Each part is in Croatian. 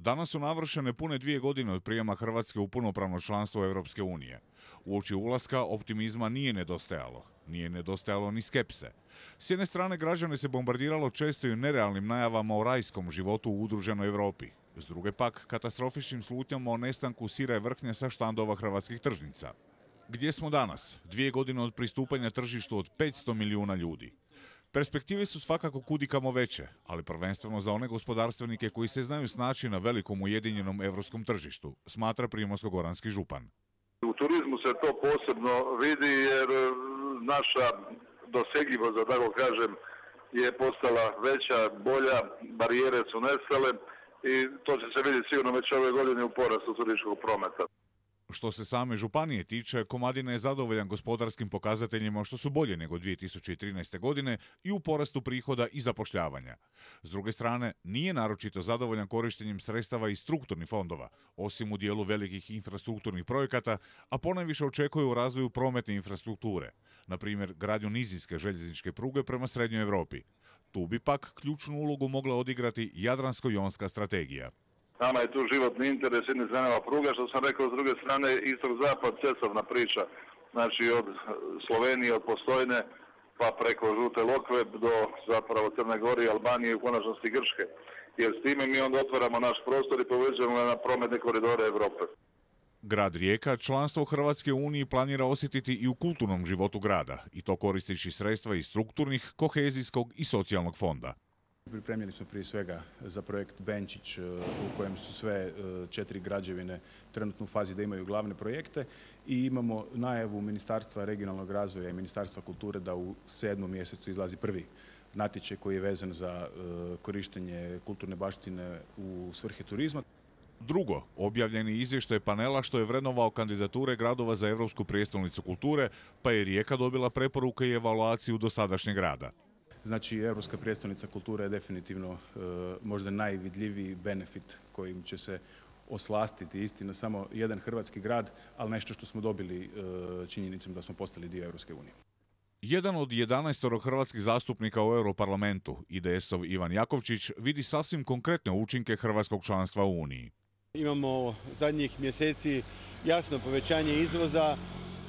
Danas su navršene pune 2 godine od prijema Hrvatske u punopravno članstvo Europske unije. Uoči ulaska optimizma nije nedostajalo. Nije nedostajalo ni skepse. S jedne strane građane se bombardiralo često i nerealnim najavama o rajskom životu u udruženoj Europi. S druge pak katastrofičnim slutnjama o nestanku sira i vrhnja sa štandova hrvatskih tržnica. Gdje smo danas? 2 godine od pristupanja tržištu od 500 milijuna ljudi. Perspektive su svakako kudikamo veće, ali prvenstveno za one gospodarstvenike koji se znaju snaći na velikom ujedinjenom europskom tržištu, smatra primorsko-goranski župan. U turizmu se to posebno vidi jer naša dosegljivost, da tako kažem, je postala veća, bolja, barijere su nestale i to će se vidjeti sigurno već ove godine u porastu turističkog prometa. Što se same županije tiče, Komadina je zadovoljan gospodarskim pokazateljima što su bolje nego 2013. godine i u porastu prihoda i zapošljavanja. S druge strane, nije naročito zadovoljan korištenjem sredstava iz strukturnih fondova, osim u dijelu velikih infrastrukturnih projekata, a ponajviše očekuje u razvoju prometne infrastrukture, na primjer gradnju nizinske željezničke pruge prema Srednjoj Europi. Tu bi pak ključnu ulogu mogla odigrati Jadransko-jonska strategija. Nama je tu životni interes, s jedne strane pruga, što sam rekao, s druge strane istok-zapad, cestovna priča. Znači od Slovenije, od Postojne, pa preko Žute Lokve do zapravo Crne Gore, Albanije i u konačnosti Grčke. Jer s time mi onda otvaramo naš prostor i povećamo na prometne koridore Europe. Grad Rijeka članstvo Hrvatske u Uniji planira osjetiti i u kulturnom životu grada, i to koristeći sredstva iz strukturnih, kohezijskog i socijalnog fonda. Pripremljeni smo prije svega za projekt Benčić u kojem su sve 4 građevine trenutno u fazi da imaju glavne projekte i imamo najavu Ministarstva regionalnog razvoja i Ministarstva kulture da u 7. mjesecu izlazi prvi natječaj koji je vezan za korištenje kulturne baštine u svrhe turizma. Drugo, objavljeni izvještaj panela što je vrednovao kandidature gradova za Europsku prijestolnicu kulture, pa je Rijeka dobila preporuke i evaluaciju dosadašnjeg rada. Znači, Europska prijestolnica kulture je definitivno možda najvidljiviji benefit kojim će se oslastiti istina samo jedan hrvatski grad, ali nešto što smo dobili činjenicom da smo postali dio Europske unije. Jedan od 11 hrvatskih zastupnika u Europarlamentu, IDS-ov Ivan Jakovčić, vidi sasvim konkretne učinke hrvatskog članstva u Uniji. Imamo zadnjih mjeseci jasno povećanje izvoza,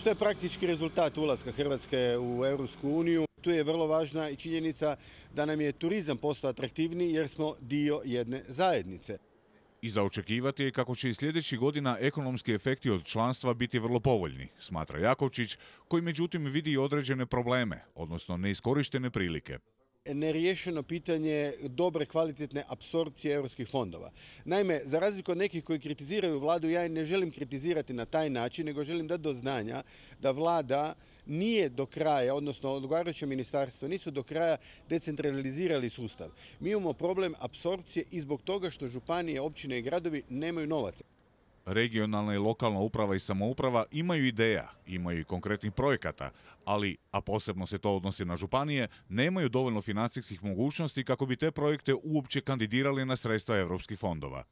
što je praktički rezultat ulaska Hrvatske u Europsku uniju. Tu je vrlo važna i činjenica da nam je turizam postao atraktivniji jer smo dio jedne zajednice. I za očekivati je kako će i sljedećih godina ekonomski efekti od članstva biti vrlo povoljni, smatra Jakovčić, koji međutim vidi i određene probleme, odnosno neiskorištene prilike. Neriješeno pitanje dobre kvalitetne apsorpcije europskih fondova. Naime, za razliku od nekih koji kritiziraju vladu, ja ne želim kritizirati na taj način, nego želim dati do znanja da vlada nije do kraja, odnosno odgovarajuće ministarstvo, nisu do kraja decentralizirali sustav. Mi imamo problem apsorpcije i zbog toga što županije, općine i gradovi nemaju novaca. Regionalna i lokalna uprava i samouprava imaju ideja, imaju i konkretnih projekata, ali, a posebno se to odnosi na županije, nemaju dovoljno financijskih mogućnosti kako bi te projekte uopće kandidirali na sredstva europskih fondova.